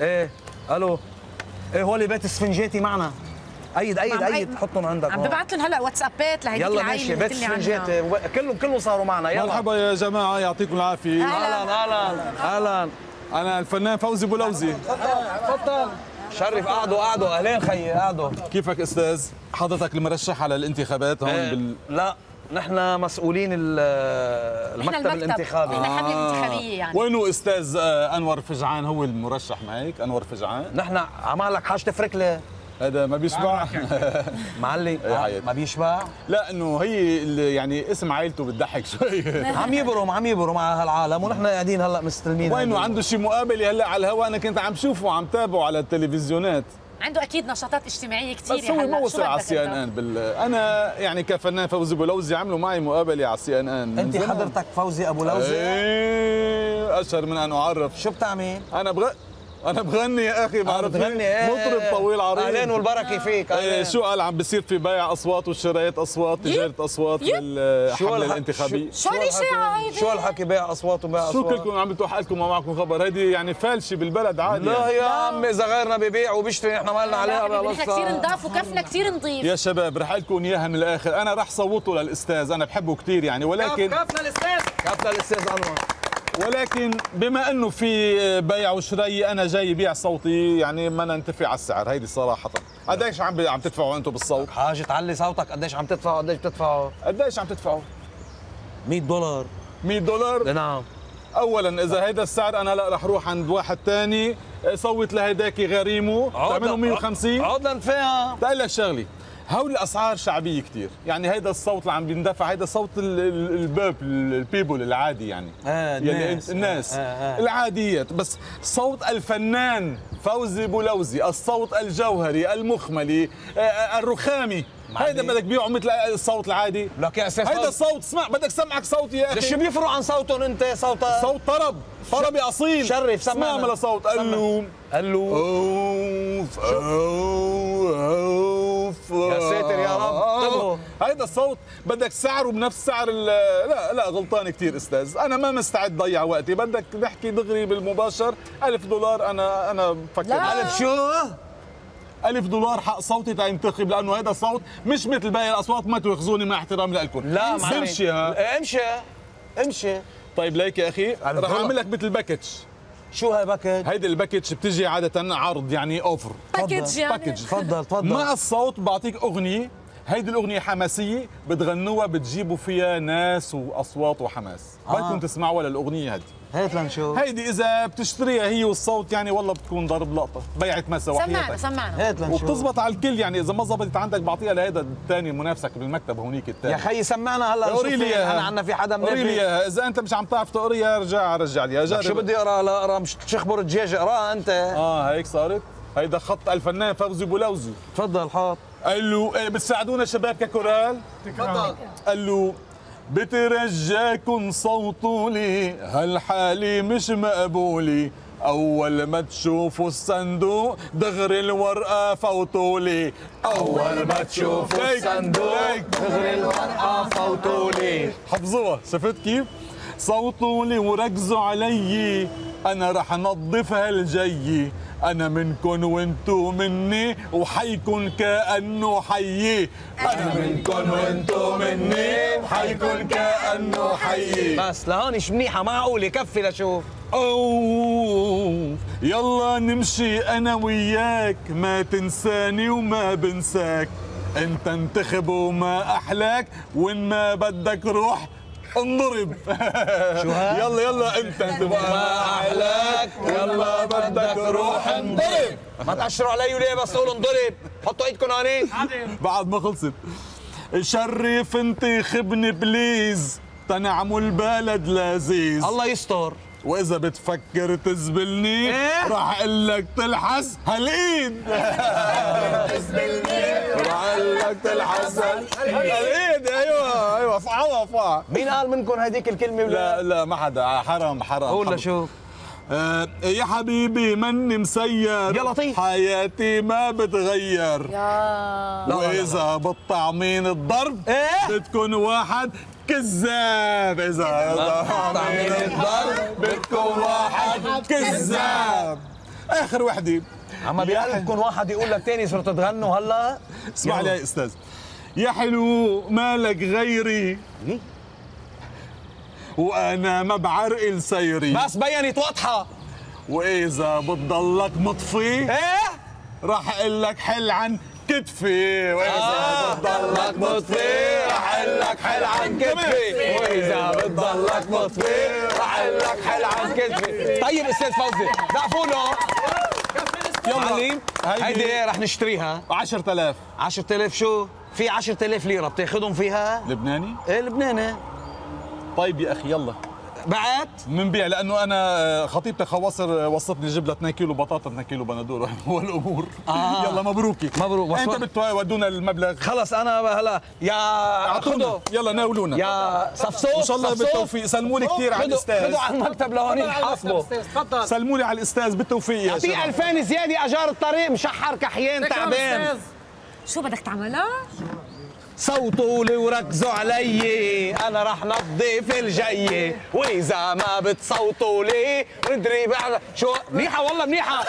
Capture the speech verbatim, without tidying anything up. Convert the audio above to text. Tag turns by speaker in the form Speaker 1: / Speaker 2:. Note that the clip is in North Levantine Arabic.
Speaker 1: ايه الو ايه هولي بيت اسفنجاتي معنا. ايد ايد ايد حطهم عندك.
Speaker 2: عم ببعث لهم هلا واتسابات لهيديك العيله.
Speaker 1: يلا ماشي بيت اسفنجاتي كلهم كلهم صاروا معنا. يلا
Speaker 3: مرحبا يا جماعه يعطيكم العافيه.
Speaker 1: اهلا اهلا اهلا.
Speaker 3: انا الفنان فوزي بولوزي.
Speaker 1: تفضل شرف. قعدوا قعدوا اهلين خيي قعدوا.
Speaker 3: كيفك استاذ؟ حضرتك المرشح على الانتخابات هون
Speaker 1: ايه
Speaker 3: بال...
Speaker 1: لا نحن مسؤولين المكتب الانتخابي.
Speaker 2: نحن حمله انتخابيه يعني.
Speaker 3: وينه استاذ انور فجعان؟ هو المرشح معك انور فجعان.
Speaker 1: نحن عمالك حاجه تفرك لي.
Speaker 3: هذا ما بيشبع
Speaker 1: معلم. ما بيشبع.
Speaker 3: لا انه هي يعني اسم عائلته بتضحك شوي.
Speaker 1: عم يبرم عم يبرم مع هالعالم ونحن قاعدين هلا مستلمين.
Speaker 3: وينه عنده شي مقابله هلا على الهواء؟ انا كنت عم شوفه وعم تابعه على التلفزيونات.
Speaker 2: عنده اكيد نشاطات اجتماعيه كثير.
Speaker 3: بس هو ما وصل على السي ان ان بال... انا يعني كفنان فوزي بولوزي عملوا معي مقابله على السي ان ان.
Speaker 1: انت حضرتك فوزي ابو لوزي؟
Speaker 3: ايه اشهر من ان اعرف.
Speaker 1: شو بتعمل؟
Speaker 3: انا بغ... انا بغني يا اخي. بعرف
Speaker 1: بتغني ايه؟
Speaker 3: مطرب طويل عريض.
Speaker 1: اهلين والبركه فيك.
Speaker 3: ايه شو قال؟ عم بصير في بيع اصوات وشراية اصوات، تجاره اصوات للحمله الانتخابيه.
Speaker 2: شو هالاشاعه هيدي؟
Speaker 1: شو هالحكي بيع اصوات وبيع اصوات؟
Speaker 3: شو كلكم عم بتروح حالكم ما معكم خبر؟ هيدي يعني فالشه بالبلد عادي.
Speaker 1: لا
Speaker 3: يعني.
Speaker 1: يا عمي اذا غيرنا ببيع وبيشتري نحن ما لنا عليها.
Speaker 2: نحن كثير نضاف وكفنا كثير نضيف.
Speaker 3: يا شباب رح لكم اياها من الاخر، انا رح صوته للاستاذ، انا بحبه كثير يعني، ولكن
Speaker 1: كفنا الاستاذ كفنا الاستاذ انور.
Speaker 3: ولكن بما انه في بيع وشراي انا جاي بيع صوتي يعني ما ننتفع على السعر. هيدي صراحه. قديش عم عم تدفعوا انتم بالصوت؟
Speaker 1: حاجه تعلي صوتك. قديش عم تدفعوا؟ قديش بتدفعوا؟
Speaker 3: قديش عم تدفعوا؟
Speaker 1: مية دولار.
Speaker 3: مية دولار؟
Speaker 1: نعم.
Speaker 3: اولا اذا هيدا السعر انا لا رح روح عند واحد ثاني صوت لهيداك غريمه تعملوا مية وخمسين.
Speaker 1: عود لنفيها.
Speaker 3: بقول لك شغلي، هول الاسعار شعبيه كثير، يعني هيدا الصوت اللي عم بيندفع هيدا صوت البيب البيبل العادي يعني.
Speaker 1: آه
Speaker 3: يعني
Speaker 1: الناس,
Speaker 3: الناس
Speaker 1: آه آه.
Speaker 3: العاديات، بس صوت الفنان فوزي بولوزي، الصوت الجوهري المخملي آه الرخامي، هيدا بدك بيعه مثل الصوت العادي.
Speaker 1: لك يا استاذ
Speaker 3: هيدا الصوت اسمع بدك سمعك صوت يا اخي.
Speaker 1: شو بيفرق عن صوتهم انت؟ صوت
Speaker 3: صوت طرب طربي اصيل.
Speaker 1: شرف سمعنا.
Speaker 3: اسمع صوت قلو
Speaker 1: قلو
Speaker 3: اوف اوف
Speaker 1: يا ساتر يا رب.
Speaker 3: هيدا الصوت بدك سعره بنفس سعر لا لا غلطان كثير استاذ، انا ما مستعد ضيع وقتي، بدك نحكي دغري بالمباشر. ألف دولار انا انا بفكر.
Speaker 1: ألف شو؟
Speaker 3: ألف دولار حق صوتي تينتخب، لأنه هذا الصوت مش مثل باقي الأصوات. ما تواخذوني مع احترامي لكم.
Speaker 1: لا معلم
Speaker 3: امشي ها
Speaker 1: امشي امشي.
Speaker 3: طيب ليك يا أخي رح أعمل لك مثل باكج.
Speaker 1: شو هاي باكج؟
Speaker 3: هيدي الباكج بتجي عادة عرض يعني أوفر.
Speaker 2: باكج يعني؟
Speaker 3: باكج.
Speaker 1: تفضل تفضل.
Speaker 3: مع الصوت بعطيك أغنية، هيدي الأغنية حماسية بتغنوها بتجيبوا فيها ناس وأصوات وحماس. آه. بدكم تسمعوا للأغنية هدي.
Speaker 1: هات لنشوف.
Speaker 3: هيدي إذا بتشتريها هي والصوت يعني والله بتكون ضرب لقطة، بيعت مسا وحياتك.
Speaker 2: سمعنا سمعنا.
Speaker 1: هات لنشوف.
Speaker 3: وبتزبط على الكل يعني، إذا ما زبطت عندك بعطيها لهيدا الثاني منافسك بالمكتب هونيك الثاني.
Speaker 1: يا خيي سمعنا هلا.
Speaker 3: قوري لي اياها.
Speaker 1: انا عنا في حدا منافق.
Speaker 3: قوري لي اياها، إذا أنت مش عم تعرف تقريها رجع رجع لي. جرب.
Speaker 1: شو بدي أقرأ؟ لا أقرأ مش تشخبر الدجاج اقراها أنت.
Speaker 3: آه هيك صارت؟ هيدا خط الفنان فوزي بولوزي.
Speaker 1: تفضل حاط.
Speaker 3: قال له إيه بتساعدونا شباب ككورال؟
Speaker 1: تفضل.
Speaker 3: قال له بترجاكن صوتوا لي هالحالي مش مقبولي، أول ما تشوفوا الصندوق دغري الورقة فوتوا لي. أول ما تشوفوا الصندوق دغري الورقة فوتوا لي. حفظوها. شفت كيف؟ صوتوا لي وركزوا علي، أنا رح نظف هالجي، أنا منكن وانتو مني وحيكن كأنه حيي. أنا منكن وانتو مني وحيكن كأنه حيي.
Speaker 1: بس لهون مش منيحة معقولة كفي لشوف.
Speaker 3: أوه يلا نمشي أنا وياك، ما تنساني وما بنساك، أنت انتخب وما أحلاك، وإن ما بدك روح انضرب.
Speaker 1: شو هاد؟
Speaker 3: يلا يلا انت تبقى ما احلاك، يلا بدك روح انضرب.
Speaker 1: ما تأشروا علي وليه بس تقولوا انضرب؟ حطوا ايدكم هونيك.
Speaker 3: بعد ما خلصت شرف انتخبني بليز تنعموا البلد لذيذ.
Speaker 1: الله يستر.
Speaker 3: واذا بتفكر تزبلني
Speaker 1: إيه؟
Speaker 3: راح اقول لك تلحس هالايد. تزبلني راح اقول لك تلحس هالايد. ايوه ايوه فعوها فع.
Speaker 1: مين قال منكم هديك الكلمة؟
Speaker 3: لا لا ما حدا. حرام حرام.
Speaker 1: قول لشوف.
Speaker 3: آه يا حبيبي مني مسير،
Speaker 1: يا لطيف
Speaker 3: حياتي ما بتغير.
Speaker 2: يا
Speaker 3: واذا بالطعمين الضرب
Speaker 1: إيه؟
Speaker 3: بتكون واحد كذاب. اذا بالطعمين الضرب بتكون واحد كذاب. اخر وحده
Speaker 1: عم بقلبكم واحد يقول لك تاني صرتوا تغنوا هلا.
Speaker 3: اسمع لي يا استاذ. يا حلو مالك غيري وانا ما بعرقل سيري،
Speaker 1: بس بينت واضحه.
Speaker 3: واذا بتضلك مطفي
Speaker 1: ايه
Speaker 3: راح اقول لك حل عن كتفي، واذا
Speaker 1: آه.
Speaker 3: بتضلك
Speaker 1: مطفي راح اقول لك حل عن كتفي، واذا بتضلك مطفي راح اقول لك حل عن كتفي. طيب استاذ فوزي زقفوا له. يلا معلم هيدي رح نشتريها
Speaker 3: عشرة آلاف.
Speaker 1: عشرة آلاف شو؟ في عشرة آلاف ليرة بتاخذهم فيها؟
Speaker 3: لبناني؟
Speaker 1: ايه لبناني.
Speaker 3: طيب يا اخي يلا
Speaker 1: بعت؟
Speaker 3: منبيع، لانه انا خطيبتي خواصر وصتني جيب لها اثنين كيلو بطاطا اثنين كيلو بندور هو الامور.
Speaker 1: آه.
Speaker 3: يلا مبروكي.
Speaker 1: مبروك.
Speaker 3: انت بتودونا المبلغ.
Speaker 1: خلص انا هلا يا
Speaker 3: اعطونا يلا ناولونا
Speaker 1: يا صفصوف.
Speaker 3: ان شاء الله بالتوفيق. سلموا لي كثير على الاستاذ.
Speaker 1: خذوا على المكتب لهون يحاسبوا.
Speaker 2: تفضل.
Speaker 3: سلموا لي على الاستاذ بالتوفيق يا
Speaker 1: في
Speaker 3: شباب.
Speaker 1: ألفين زياده اجار الطريق مشحر كحيان تعبان.
Speaker 2: شو بدك تعملها؟
Speaker 1: صوتوا لي وركزوا علي انا رح نظف الجاي، واذا ما بتصوتوا لي ندري بعد شو. منيحه والله منيحه.